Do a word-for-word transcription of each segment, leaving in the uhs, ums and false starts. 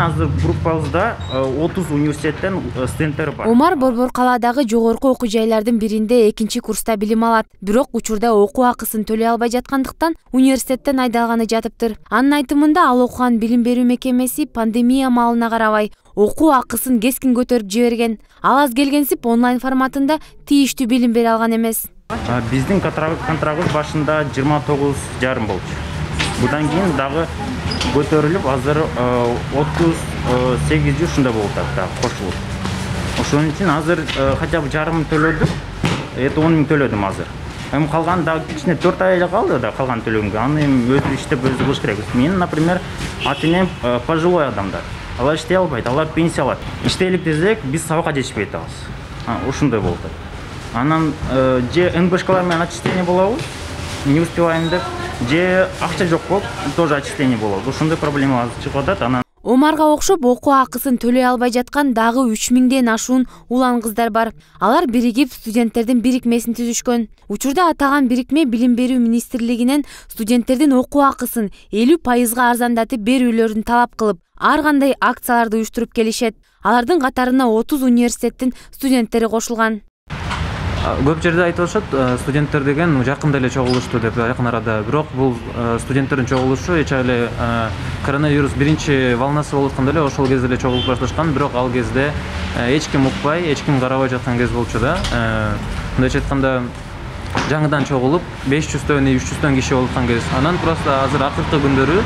Азыр группабызда отуз университеттен студенттер бар. Омар Борбор калаадагы жогорку окуу жайлардын биринде экинчи курста билим алат. Бирок учурда окуу акысын төлөй албай жаткандыктан университеттен айдалганы жатыптыр. Анын айтымында ал окуган билим берүү мекемеси пандемия маалына карабай окуу акысын кескин көтөрүп жиберген. Ал аз келгенсип онлайн форматында тийиштүү билим бере алган эмес. Биздин контрагыбыз башында жыйырма тогуз жарым болчу. Будан кийин дагы көтөрүлүп, азыр отуз сегиз жүз ушундай болуп атат, кошулуп. Ошон үчүн азыр хотя бы жарым төлөдүм, это он миң төлөдүм азыр. Эми калган дагы кичине төрт ай эле калды да калган төлөгөнгө. Аны эми өзү иштеп өзү кылыш керек. Мен, например, ата-энем пожилой адамдар. Алар иштей албайт, алар пенсия алат. Иштейлик десек, биз сабакка жетишпей атабыз. Ушундай болуп атат. Анан же эн бэ шкалар менен отчисление болобуз, не успеваем деп, же акча жок болуп, тоже отчисление болобуз. Ошондой проблема чыгып атат. Анан Омарга окшоп окуу акысын төлөй албай жаткан дагы үч миңден ашуун улан кыздар бар. Алар биригип студенттердин бирикмесин түзүшкөн. Учурда атаган бирикме Билим берүү министрлигинен студенттердин окуу акысын элүү пайызга арзандатып берүүлөрүн талап кылып, ар кандай акцияларды уюштуруп келишет. Алардын катарына отуз университеттин студенттери кошулган. Көп жерде айтылышат, студенттер деген жакында эле чогулушту деп, жакын арада. Бирок бул студенттердин чогулушу эч эле коронавирус биринчи волнасы болуп атканда эле ошол кезде эле чогулуп башташкан, бирок ал кезде эч ким укпай, эч ким карабай жаткан кез болчу да. Мындайча айтканда, жаңыдан чогулуп беш жүздөн үч жүздөн киши болуп аткан кез. Анан просто азыр акыркы күндөрү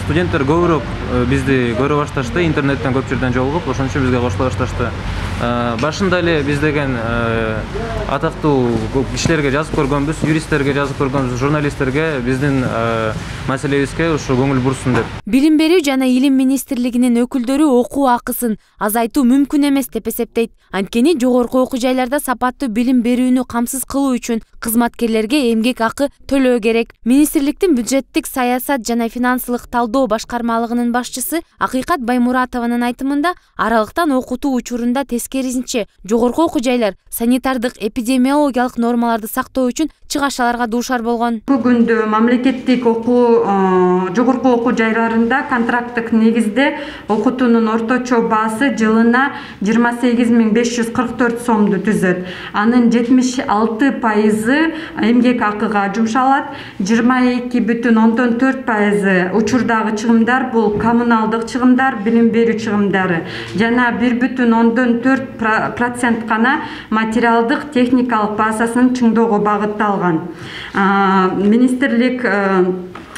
студенттер көбүрөөк бизди көрө башташты, интернеттен көп жерден жолугуп, ошон үчүн бизге кошула башташты. Башында эле биз деген атактуу кишилерге жазып көргөнбүз, юристтерге жазып көргөнбүз, журналисттерге биздин маселебизге ушу көңүл бурсун деп. Билим берүү жана илим министрлигинин өкүлдөрү окуу акысын азайтуу мүмкүн эмес деп эсептейт. Анткени жогорку окуу жайларда сапаттуу билим берүүнү камсыз кылуу үчүн кызматкерлерге эмгек акы төлөө керек. Министрликтин бюджеттик саясат жана финансылык талдоо башкармалыгынын башчысы Акыйкат Баймуратованын айтымында, аралыктан окутуу учурунда тескерисинче жогорку окуу жайлар санитардык эпидемиологиялык нормаларды сактоо үчүн чыгашаларга дуушар болгон. Бүгүндө мамлекеттик окуу жогорку окуу жайларында контракттык негизде окутуунун орточо баасы жылына жыйырма сегиз миң беш жүз кырк төрт сомду түзөт. Анын жетимиш алты пайызы эмгек акыга жумшалат, жыйырма эки бүтүн ондон төрт пайызы учурдагы чыгымдар бул коммуналдык чыгымдар, билим берүү чыгымдары жана бир бүтүн ондон төрт процент гана материалдык техникалык базасын чыңдоого багытталган. Министрлик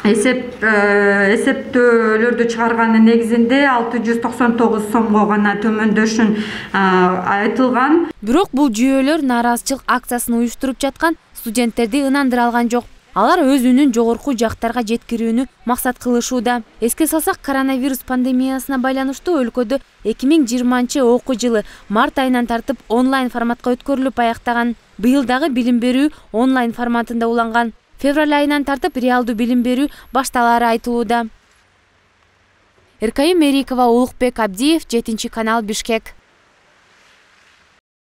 эсеп эсептөөлөрдү чыгарганын негизинде алты жүз токсон тогуз сомго гана төмөндөшүн айтылган. Бирок бул жүйөлөр нааразычылык акциясын уюштуруп жаткан студенттерди ынандыра алган жок. Алар өз үнүн жогорку жактарга жеткирүүнү максат кылышууда. Эске салсак, коронавирус пандемиясына байланыштуу өлкөдө эки миң жыйырманчы окуу жылы март айынан тартып онлайн форматка өткөрүлүп аяктаган. Быйыл дагы билим берүү онлайн форматында уланган. Февраль айынан тартып реалдуу билим берүү башталары айтылууда. Эркайым Мерикова, Улукбек Абдиев, жетинчи канал, Бишкек.